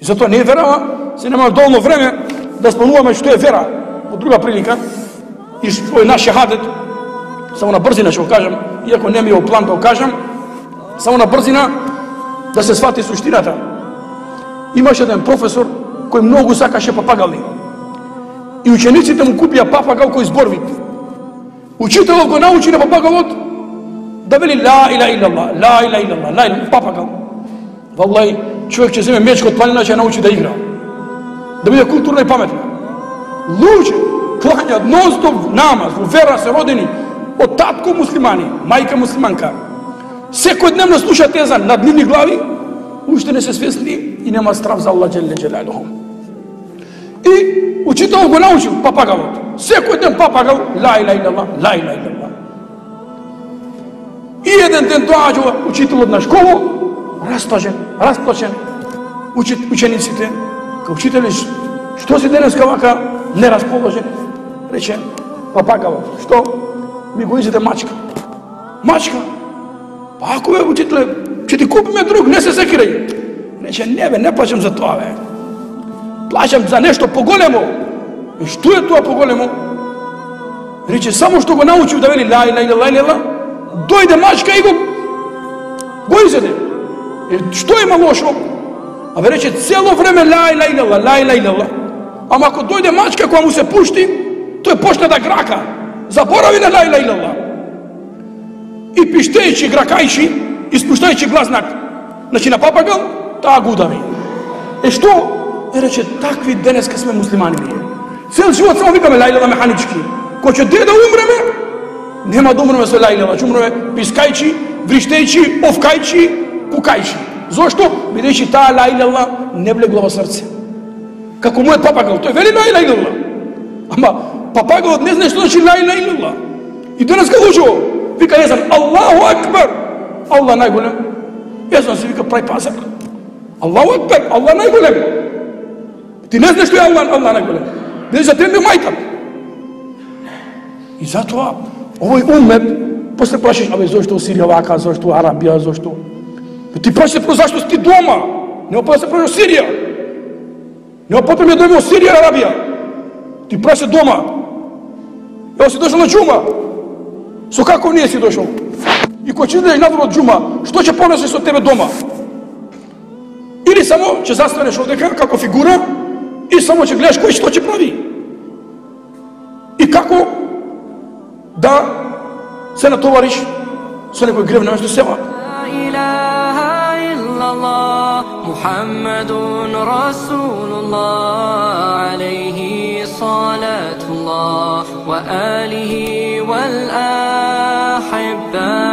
И затоа не е вера, се нема доволно време да спомнуваме што е вера во друга прилика и што е наш шахадет. Само на брзина ќе го кажам, иако не ми е план да го кажам, само на брзина да се свати суштината. Имаше еден професор кој многу сакаше папагални. И учениците му купија папагал кој зборвит. Учителот го научи на папагалот да вели ла иля илlallah, ла иля илlallah, ла иля папагал. Валлај, човек ќе земе мечка од планина, ќе научи да игра. Да биде културна и паметна. Луѓе кланјат нон-стоп намаз, во вера се родени од татко муслимани, мајка муслиманка. Секојдневно слушаат езан над нивни глави, уште не се свесни и нема страв за Аллах џелле џелалуху. И учителот го научил папагалот. Секој ден папагал ла иля илlallah, ла иля илlallah. И еден ден доаѓа учителот на школа, расплачен, учениците, кај учителе, што си денеска вака нерасположен? Рече папагалот, што? Ми го изеде мачка. Мачка? Па ако бе, учителе, ќе ти купиме друг, не се секирај. Рече, не бе, не плачам за тоа, бе. Плачам за нешто поголемо. И што е тоа поголемо? Рече, само што го научив да вели ла иля илlallah, дојде мачка и го изеде. Што има лошо? А бе рече, цело време ла иля илlallah, ла иля илlallah. Ама ако дојде мачка која му се пушти, тој почне да грака. Заборави на ла иля илlallah. И пиштејќи, гракајќи, и спуштајќи глазнак, значи на папагал, таа го удави. Што? Рече, такви денеска сме муслимани ние. Цел живот само викаме ла илlallah механички. Кој ќе да умреме, нема да умреме со ла илlallah, ќе умреме пискајќи, вриштејќи, овкајќи, кукајќи. Зошто? Бидејќи таа ла илlallah не влегла во срце. Како мојот папагал, тој вели ла илlallah. Ама папагалот не знае што значи ла илlallah. И денеска лужо, вика езан Аллаху акбар. Аллах најголем. Езан се вика прај пазар. Аллаху акбар, Аллах најголем. Ти не знаеш што е Аллах најголем. Не за тебе мајка. И затоа овој умет после прашаш, абе зошто Сирија вака, зошто Арабија, зошто? Ти прашаш про зашто си ти дома. Не опа се прашаш Сирија. Не опа ми дојме од Сирија и Арабија. Ти прашаш дома. Ево си дошол на џума. Со како не си дошол? И кој ќе идеш надвор од џума, што ќе понесеш со тебе дома? Или само ќе застанеш одека како фигура и само ќе гледаш кој што ќе прави. И како да се натовариш со некој грев наместо сева. Muhammadun Rasulullah alayhi salatullah wa alihi wal ahibba